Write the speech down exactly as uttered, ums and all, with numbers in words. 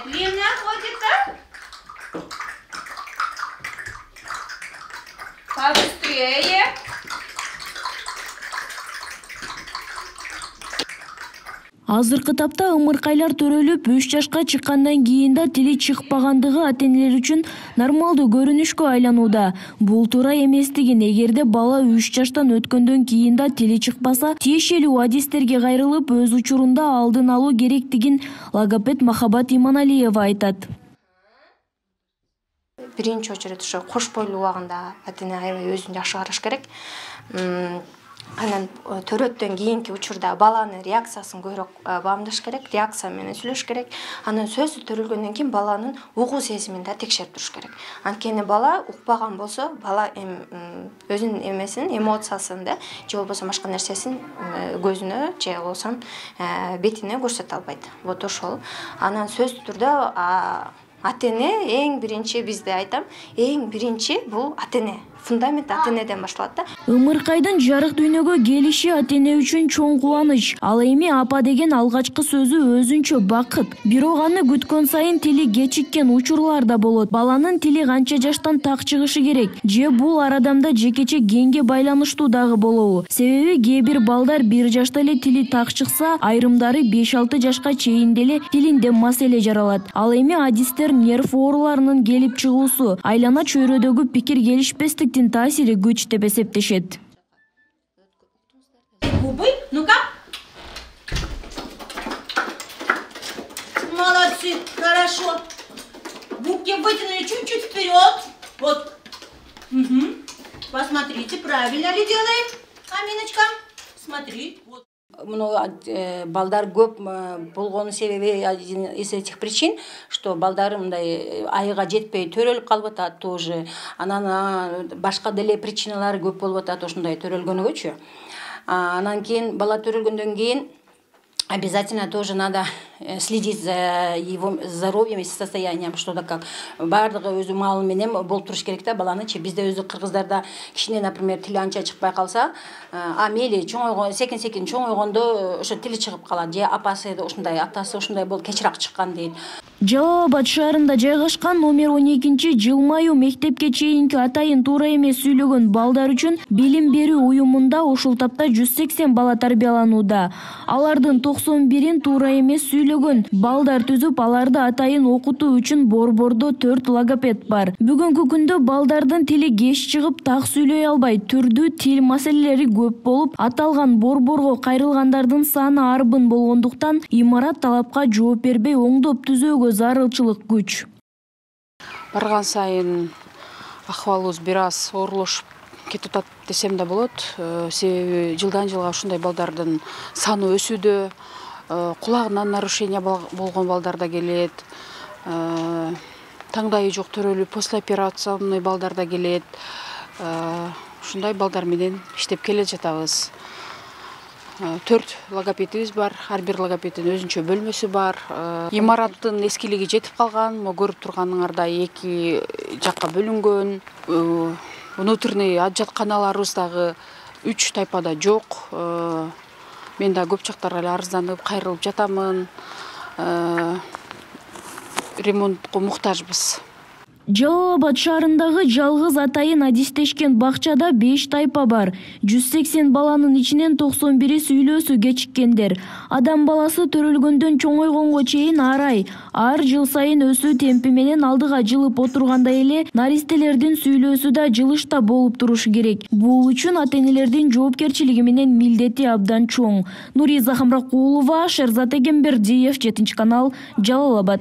Медленно ходит, да? Побыстрее. Азыркы тапта ымыркайлар төрөлүп, үч жашка чыккандан кийин да тили чыкпагандыгы ата-энелер үчүн нормалдуу көрүнүшкө айланууда. Бул туура эместигин, эгерде бала үч жаштан өткөндөн кийин да тили чыкпаса, тиешелүү адистерге кайрылып, өз учурунда алдын алуу керектигин логопед Махабат Иманалиева айтат. Биринчи очередь ошо кош бойлуу убагында ата-эне аябай өзүн жакшы караш керек. Анан төрөттөн кийинки учурда баланын реакциясын көбүрөөк баамдаш керек, реакция менен сүйлөш керек. Анан сөзсүз төрөлгөндөн кийин баланын угуу сезимин да текшерип туруш керек. Анткени бала укпаган болсо, бала өзүнүн эмесин, эмоциясын да, же болбосо башка нерсесин көзүнө, же болбосо бетине көрсөтө албайт. Вот ошол. Анан сөзсүз түрдө ата-эне эң биринчи, бизде айтам, эң биринчи бул ата-эне. Фундамент ата-энеден башталат да. Ымыркайдын жарык дүйнөгө келиши ата-эне үчүн чоң кубаныч. Ал эми апа деген алгачкы сөзү өзүнчө бакыт. Бирок аны күткөн сайын тили кечиккен учурлар да болот. Баланын тили канча жаштан так чыгышы керек? Же бул арадамда жекече генге байланыштуу дагы болобу? Себеби кээ бир балдар бир жашта эле тили так чыкса, айрымдары беш алты жашка чейин деле тилинде маселе жаралат. Ал эми адистер нерв ооруларынын келип чыгуусу, айлана чөйрөдөгү пикир келишпестик таасири күч деп эсептешет. Губы, ну-ка. Молодцы, хорошо. Губки вытянули чуть-чуть вперед. Вот. Угу. Посмотрите, правильно ли делаем, Аминочка? Смотри. Вот. Муну балдар көп болгонун себеби из этих причин, что балдар мындай айга жетпей төрөлүп калып атат тоже. Анан башка деле причиналары көп болуп атат ошондой төрөлгөнүгөчү. Анан кийин бала төрөлгөндөн кийин обязательно тоже надо следить за его здоровьем и состоянием, что-то как. Бардыгы өзү маалы менен болуп туруш керек да баланычы. Бизде өзү кыргыздарда кичине, например, тили анча чыкпай калса, а мели чоңойгон, секин-секин чоңойгондо ошо тили чыгып калат. Же апасы ушундай, атасы ушундай болуп кечирээк чыккан дейт. Жалал Абад шаарында жайгашкан номер он экинчи жылмаюу мектепке чейинки атайын туура эмес сүйлөгөн балдар үчүн билим берүү уюмунда ушул тапта жүз сексен бала тарбияланууда. Алардын токсон бирин туура эмес сүйлөгөн балдар түзүп, аларды атайын окутуу үчүн борбордо төрт логопед бар. Бүгүнкү күндө балдардын тили кеч чыгып, так сүйлөй албай, түрдүү тил маселелери көп болуп, аталган борборго кайрылгандардын саны арбын болгондуктан имарат талапка жооп бербей оңдоп түзөөгө зарылчылык күч. Барган сайын акыбалыбыз бир аз оорлошуп кетип атат десем да болот. Себеби жылдан жылга ушундай балдардын саны өсүүдө, кулагынан нарушение болгон балдар да келет, таңдайы жок төрөлүп послеоперационный балдар да келет. Ушундай балдар менен иштеп келе жатабыз. Төрт логопедибиз бар, ар бир логопеддин өзүнчө бөлмөсү бар. Имараттын эскилиги жетип калган, мо көрүп турганыңардай эки жакка бөлүнгөн. Внутренний ажатканаларыбыз дагы үч тайпада жок. Мен да көп жактарга эле арызданып, кайрылып жатамын. Ремонтко муктажбыз. Жалал Абад шаарындагы жалгыз атайын адистешкен бакчада беш тайпа бар. жүз сексен баланын ичинен токсон бири сүйлөөсү кечиккендер. Адам баласы төрөлгөндөн чоңойгонго чейин арай, ар жыл сайын өсүү темпи менен алдыга жылып отургандай эле наристелердин сүйлөөсү да жылышта болуп турушу керек. Бул үчүн ата-энелердин жоопкерчилиги менен милдети абдан чоң. Нуриза Хамракулова, Шерзат Эгембердиев, жетинчи канал, Жалал Абад.